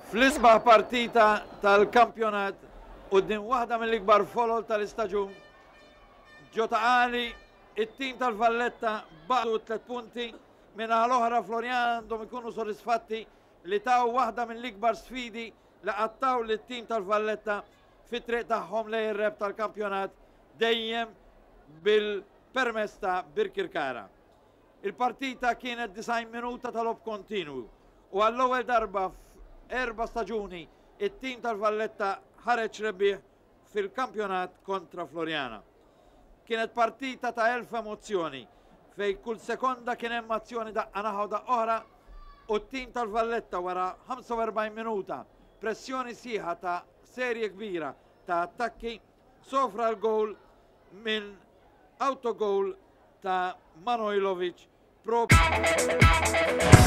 Fl-isbaħ partita tal-kampjonat quddiem waħda mill-ikbar folol tal-istaġun, ġo Ta' Qali, it-tim tal-Valletta baqgħu t-tlet punti, min-naħa l-oħra Floriana għandhom ikunu sodisfatti li taw waħda mill-ikbar sfidi li qatt taw lit-tim tal-Valletta fit-triq tagħhom lejn ir-rebħ tal-kampjonat dejjem bil-permess ta' Birkirkara. Il-partita kienet 90 minuta ta' logħob kontinwu u għall-ewwel darba f'erba' staġuni it-tim tal-Valletta ħareġ rebbieħ fil-kampjonat kontra Floriana. Kienet partita ta' elf emozzjoni fejn kull sekonda kien hemm azzjoni daqqa naħa u daqqa oħra u t-tim tal-Valletta wara 45 minuta pressjoni sħiħa ta' serje kbira ta' attakki sofra l-gowl minn autogoal ta' Manojlovic propju.